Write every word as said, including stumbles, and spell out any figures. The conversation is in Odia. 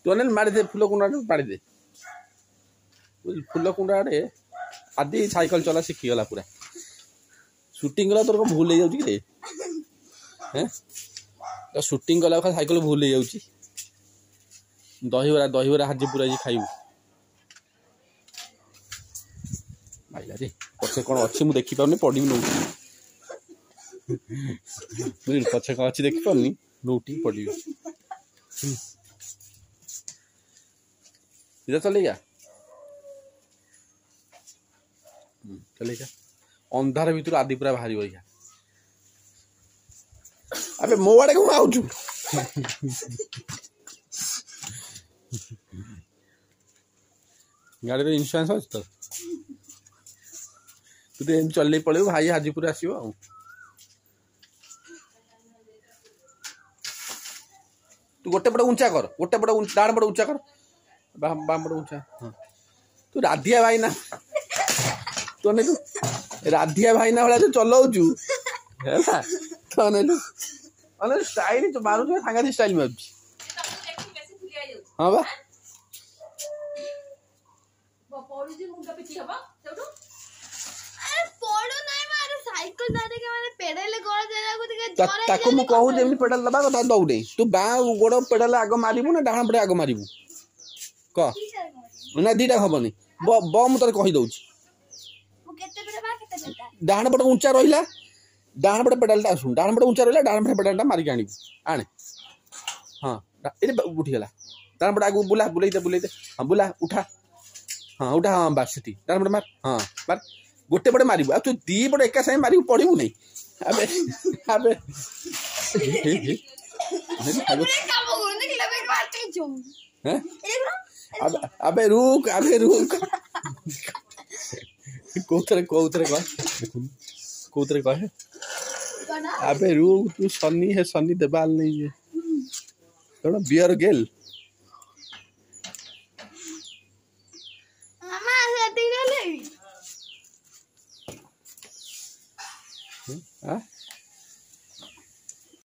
ତୁ ଅନେଇଲୁ ମାରିଦେ ଫୁଲ କୁଣ୍ଡ ଆଡ଼େ ମାରିଦେ ବୁଝିଲୁ ଫୁଲ କୁଣ୍ଡ ଆଡ଼େ ଆଦି ସାଇକେଲ ଚଲା ଶିଖିଗଲା ପୁରା ସୁଟିଂ କଲା ତୋର କ'ଣ ଭୁଲ ହେଇଯାଉଛି କି ରେ ହେଁ ତ ସୁଟିଂ କଲା ସାଇକେଲ ଭୁଲ ହେଇଯାଉଛି ଦହିବରା ଦହିବରା ହାଜିପୁର ଆଜି ଖାଇବୁ ମାଇଲା ରେ ପଛେ କ'ଣ ଅଛି ମୁଁ ଦେଖିପାରୁନି ପଡ଼ିବି ନଉଟି ବୁଝିଲୁ ପଛେ କ'ଣ ଅଛି ଦେଖିପାରୁନି ନଉଟି ପଡ଼ିବି इधर चलेगा ଚଲେଇକା ଅନ୍ଧାର ଭିତରୁ ଆଦି ପୁରା ବାହାରିବ ଏଇକା ଆବେ ମୋ ଆଡ଼େ କଣ ଆଉଛୁ ଗାଡ଼ିର ଇନ୍ସୁରାନ୍ସ ଅଛି ତ ତୁ ତ ଏମିତି ଚଲେଇ ପଳେଇବୁ ଭାଇ ହାଜିପୁର ଆସିବ ଆଉ ତୁ ଗୋଟେ ପଟେ ଉଞ୍ଚା କର ଗୋଟେ ପଟେ ଡାହାଣ ପଟେ ଉଞ୍ଚା କର ବାମ ପଟେ ଉଞ୍ଚା ହଁ ତୁ ରାଧିଆ ଭାଇନା ତୁ ଅନେଇଲୁ ରାଧିଆ ଭାଇନା ଭଳିଆ ତୁ ଚଲଉଛୁ ହେଲା ତୁ ଅନେଇଲୁ ଅନେଇଲୁ ଷ୍ଟାଇଲ ତୁ ମାରୁଛୁ ସାଙ୍ଗାତିକ ଷ୍ଟାଇଲ ମାରୁଛି ହଁ ବା ପଡୁଛି ମୁଣ୍ଡ ପିଟି ହବ ସେଇଠୁ ତାକୁ ମୁଁ କହୁଛି ଏମିତି ପେଡାଲ ଦବା କଥା ଦଉନି ତୁ ବାଁ ଗୋଡ଼ ପେଡାଲ ଆଗ ମାରିବୁ ନା ଡାହାଣ ପଟେ ଆଗ ମାରିବୁ କହ ନା ଦିଟା ହବନି ବ ବ ମୁଁ ତୋତେ କହିଦଉଛି ଡାହାଣ ପଟେ ଉଞ୍ଚା ରହିଲା ଡାହାଣ ପଟେ ପେଡାଲଟା ଆସୁ ଡାହାଣ ପଟେ ଉଞ୍ଚା ରହିଲା ଡାହାଣ ପଟେ ପେଡାଲଟା ମାରିକି ଆଣିବୁ ଆଣେ ହଁ ଏଠି ଉଠିଗଲା ଡାହାଣ ପଟେ ଆଗକୁ ବୁଲା ବୁଲେଇ ଦେ ବୁଲେଇ ଦେ ହଁ ବୁଲା ଉଠା ହଁ ଉଠା ହଁ ବାସ୍ ସେଠି ଡାହାଣ ପଟେ ମାର ହଁ ମାର ଗୋଟେ ପଟେ ମାରିବୁ ଆଉ ତୁ ଦି ପଟେ ଏକା ସାଙ୍ଗେ ମାରିବୁ ପଡ଼ିବୁ ନାହିଁ ଆବେ ଆବେ ଆବେ ରୁକ ଆବେ ରୁକ କୋଉଥିରେ କୋଉଥିରେ କହ କୋଉଥିରେ କହେ ଆବେ ରୁକ ତୁ ସନି ହେ ସନି ଦେବାଲ ନେଇ କଣ ବିୟର ଗେଲ